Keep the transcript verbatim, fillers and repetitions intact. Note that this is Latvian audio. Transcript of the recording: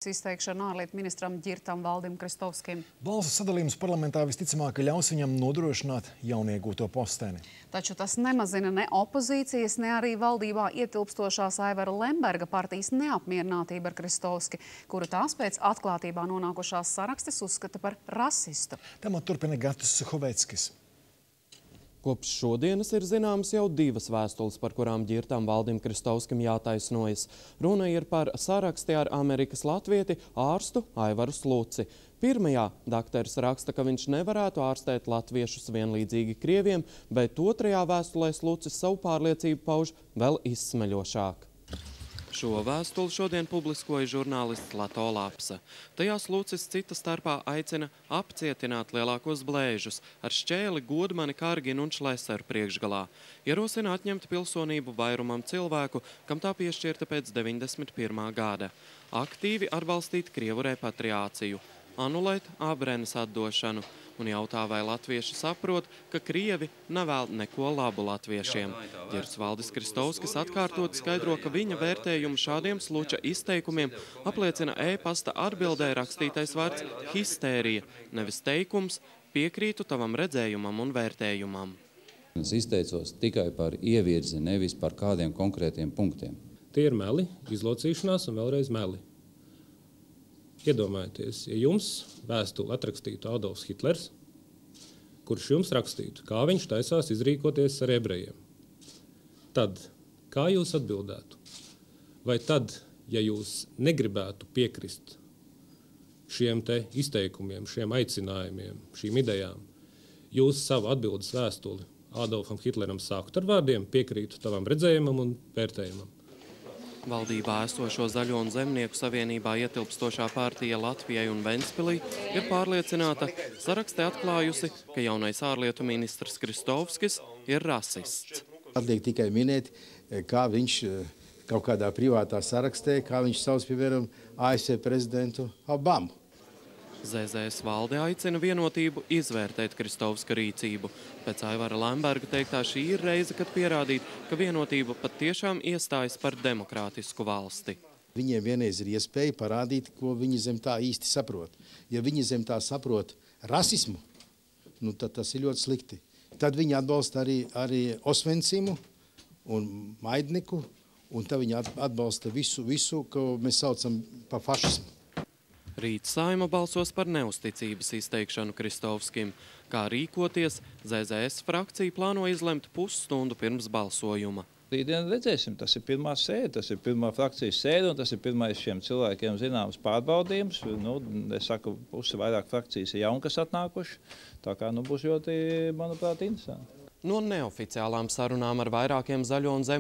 Izteikšana ārlietu ministram Ģirtam Valdim Kristovskim. Balsu sadalījums parlamentā visticamāk ļaus viņam nodrošināt jauniegūto posteni. Taču tas nemazina ne opozīcijas, ne arī valdībā ietilpstošās Aivara Lemberga partijas neapmierinātība ar Kristovski, kuru tās pēc atklātībā nonākušās sarakstes uzskata par rasistu. Tematu turpina Gatis Suhoveckis. Kopš šodienas ir zināmas jau divas vēstules, par kurām Ģirtam Valdim Kristovskim jātaisnojas. Runa ir par saraksti ar Amerikas latvieti ārstu Aivaru Sluci. Pirmajā dakteris raksta, ka viņš nevarētu ārstēt latviešus vienlīdzīgi krieviem, bet otrajā vēstulē Slucis savu pārliecību pauž vēl izsmeļošāk. Šo vēstuli šodien publiskoja žurnālists Lato Lapsa. Tajā Slucis cita starpā aicina apcietināt lielākos blēžus ar šķēli Godmani, Karginu un Šleseru priekšgalā. Ierosina atņemt pilsonību vairumam cilvēku, kam tā piešķirta pēc deviņdesmit pirmā gada. Aktīvi atbalstīt Krievu repatriāciju, anulēt Abrenes atdošanu un jautā, vai latvieši saprot, ka Krievi nevēl neko labu latviešiem. Ģirts Valdis Kristovskis atkārtot skaidro, ka viņa vērtējumu šādiem Sluča izteikumiem apliecina e-pasta atbildē rakstītais vārds histērija, nevis teikums piekrītu tavam redzējumam un vērtējumam. Es izteicos tikai par ievirzi, nevis par kādiem konkrētiem punktiem. Tie ir meli, izlocīšanās un vēlreiz meli. Iedomājieties, ja jums vēstuli atrakstītu Adolfs Hitlers, kurš jums rakstītu, kā viņš taisās izrīkoties ar ebrejiem, tad kā jūs atbildētu? Vai tad, ja jūs negribētu piekrist šiem te izteikumiem, šiem aicinājumiem, šīm idejām, jūs savu atbildes vēstuli Adolfam Hitleram sāktu ar vārdiem piekrītu tavam redzējumam un vērtējumam? Valdībā esošo Zaļo un Zemnieku savienībā ietilpstošā partija Latvijai un Ventspilī ir pārliecināta, sarakstē atklājusi, ka jaunais ārlietu ministrs Kristovskis ir rasists. Atliek tikai minēt, kā viņš kaut kādā privātā sarakstē, kā viņš sauc, piemēram, A S V prezidentu Obamu. Z Z S valde aicina vienotību izvērtēt Kristovska rīcību. Pēc Aivara Lemberga teiktā, šī ir reize, kad pierādīt, ka vienotība pat tiešām iestājas par demokrātisku valsti. Viņiem vienreiz ir iespēja parādīt, ko viņi zem tā īsti saprot. Ja viņi zem tā saprot rasismu, nu tad tas ir ļoti slikti. Tad viņi atbalsta arī, arī Osvencimu un Maidniku, un tad viņi atbalsta visu, visu, ko mēs saucam par fašismu. Rīt Saeima balsos par neusticības izteikšanu Kristovskim. Kā rīkoties, Z Z S frakcija plāno izlemt pusstundu pirms balsojuma. Rītdien redzēsim, tas ir pirmā sēde, tas ir pirmā frakcijas sēde, un tas ir pirmais šiem cilvēkiem zināms pārbaudījums. Nu, es saku, pusi vairāk frakcijas ir jauni, kas atnākuši, tā kā nu, būs ļoti, manuprāt, interesanti. No neoficiālām sarunām ar vairākiem Zaļo un Zemnieku